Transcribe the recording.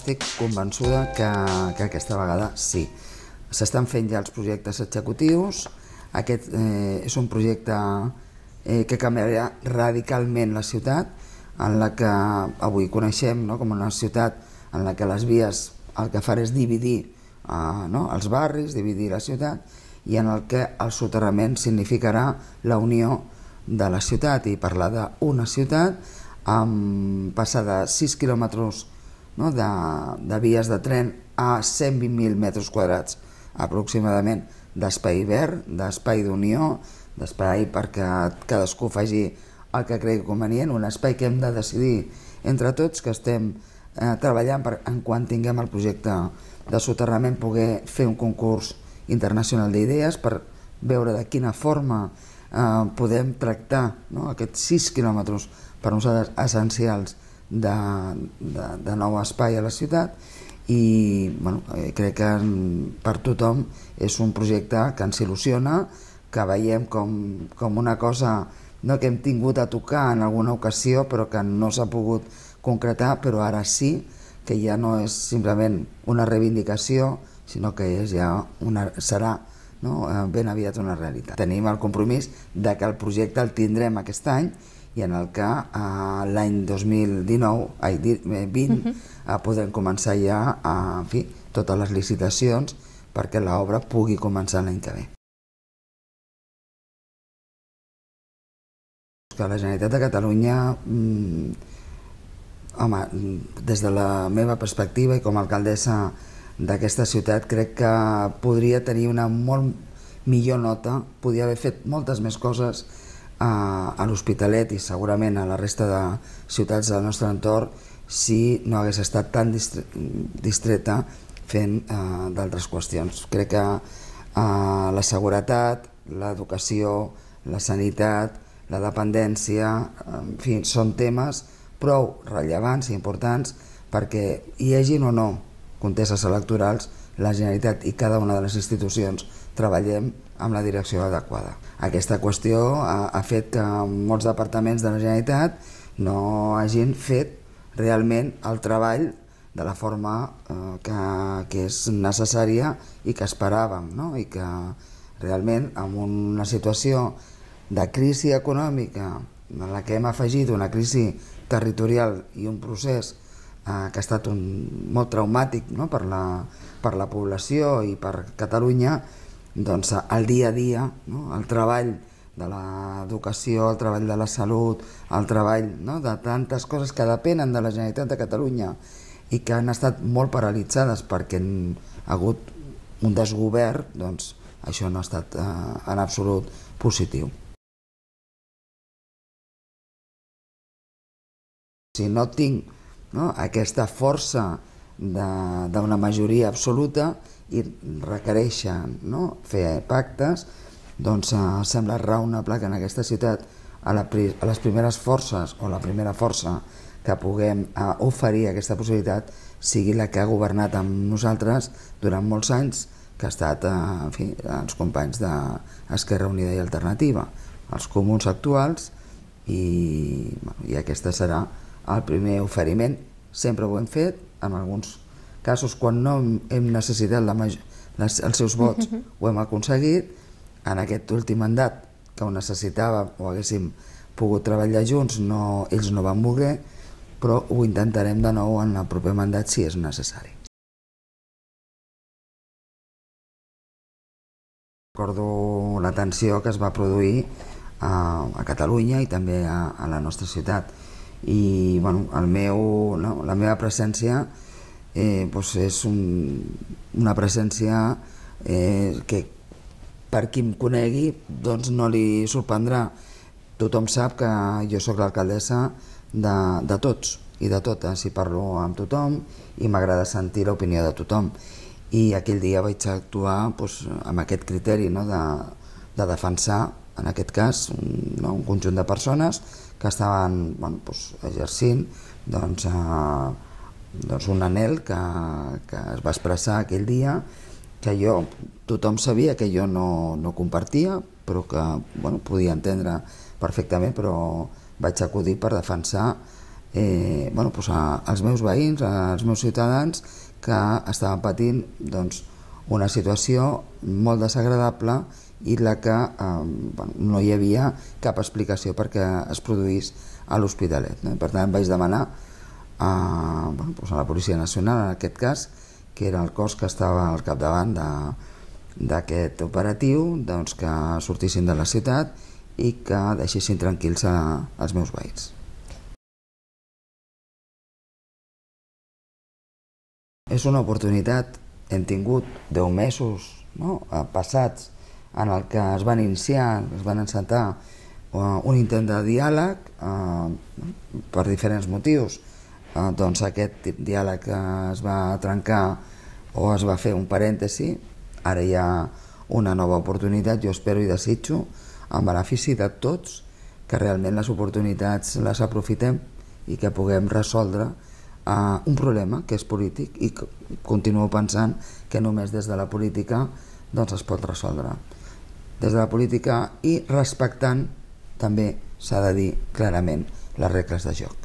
estic convençuda que aquesta vegada sí. S'estan fent ja els projectes executius. Aquest és un projecte que canviarà radicalment la ciutat, en la que avui coneixem com una ciutat en la que les vies el que fan és dividir els barris, dividir la ciutat, i en el que el soterrament significarà la unió de la ciutat i parlar d'una ciutat, passar de 6 quilòmetres de vies de tren a 120.000 metres quadrats aproximadament d'espai verd, d'espai d'unió, d'espai perquè cadascú faci el que cregui convenient, un espai que hem de decidir entre tots, que estem treballant per, en quan tinguem el projecte de soterrament, poder fer un concurs internacional d'idees per veure de quina forma podem tractar aquests 6 quilòmetres per nosaltres essencials de nou espai a la ciutat. I crec que per tothom és un projecte que ens il·lusiona, que veiem com una cosa que hem tingut a tocar en alguna ocasió però que no s'ha pogut concretar, però ara sí que ja no és simplement una reivindicació, sinó que serà ben aviat una realitat. Tenim el compromís de que el projecte el tindrem aquest any i en el que l'any 2020 podrem començar ja totes les licitacions perquè l'obra pugui començar l'any que ve. La Generalitat de Catalunya, des de la meva perspectiva i com a alcaldessa d'aquesta ciutat, crec que podria tenir una molt millor nota, podria haver fet moltes més coses a l'Hospitalet i segurament a la resta de ciutats del nostre entorn si no hagués estat tan distreta fent d'altres qüestions. Crec que la seguretat, l'educació, la sanitat, la dependència, en fi, són temes prou rellevants i importants perquè hi hagin o no contestes electorals, la Generalitat i cada una de les institucions treballem amb la direcció adequada. Aquesta qüestió ha fet que molts departaments de la Generalitat no hagin fet realment el treball de la forma que és necessària i que esperàvem, i que realment en una situació de crisi econòmica en la que hem afegit una crisi territorial i un procés que ha estat molt traumàtic per la població i per Catalunya, doncs el dia a dia, el treball de l'educació, el treball de la salut, el treball de tantes coses que depenen de la Generalitat de Catalunya i que han estat molt paralitzades perquè ha hagut un desgovern, doncs això no ha estat en absolut positiu. Si no tinc aquesta força d'una majoria absoluta i requereixen fer pactes, doncs sembla raonable que en aquesta ciutat a les primeres forces o la primera força que puguem oferir aquesta possibilitat sigui la que ha governat amb nosaltres durant molts anys, que ha estat els companys d'Esquerra Unida i Alternativa, els comuns actuals, i aquesta serà el primer oferiment. Sempre ho hem fet, en alguns casos quan no hem necessitat els seus vots ho hem aconseguit. En aquest últim mandat que ho necessitàvem o haguéssim pogut treballar junts, ells no van voler, però ho intentarem de nou en el proper mandat si és necessari. Recordo la tensió que es va produir a Catalunya i també a la nostra ciutat. I la meva presència és una presència que per qui em conegui no li sorprendrà. Tothom sap que jo soc l'alcaldessa de tots i de totes i parlo amb tothom i m'agrada sentir l'opinió de tothom. I aquell dia vaig actuar amb aquest criteri de defensar, en aquest cas, un conjunt de persones que estaven exercint un anhel que es va expressar aquell dia, que tothom sabia que jo no compartia, però que podia entendre perfectament, però vaig acudir per defensar als meus veïns, als meus ciutadans que estaven patint una situació molt desagradable i la que no hi havia cap explicació perquè es produís a l'Hospitalet. Per tant, vaig demanar a la Policia Nacional, en aquest cas, que era el cos que estava al capdavant d'aquest operatiu, que sortissin de la ciutat i que deixessin tranquils els meus veïns. És una oportunitat, hem tingut 10 mesos passats en el que es van iniciar, es van encetar un intent de diàleg per diferents motius. Aquest diàleg es va trencar o es va fer un parèntesi, ara hi ha una nova oportunitat. Jo espero i desitjo, en benefici de tots, que realment les oportunitats les aprofitem i que puguem resoldre un problema que és polític i que continuo pensant que només des de la política es pot resoldre. Des de la política i respectant també, s'ha de dir clarament, les regles de joc.